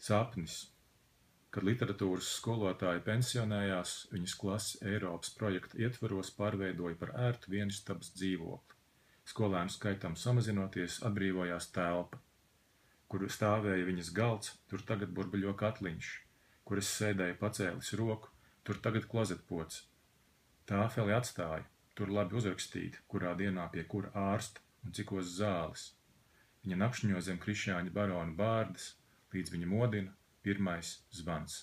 Sapnis. Kad literatūras skolotāja pensionējās, viņas klasi Eiropas projekta ietvaros pārveidoja par ērtu vienistabas dzīvokli. Skolēnu skaitam samazinoties, atbrīvojās telpa. Kur stāvēja viņas galds, tur tagad burbuļo katliņš. Kur es sēdēju pacēlis roku, tur tagad klozetpods. Tāfeli atstāja, tur labi uzrakstīti, kurā dienā pie kura ārsta un cikos zāles. Viņa nakšņo zem Krišjāņa barona bārdas, līdz viņa modina pirmais zvans.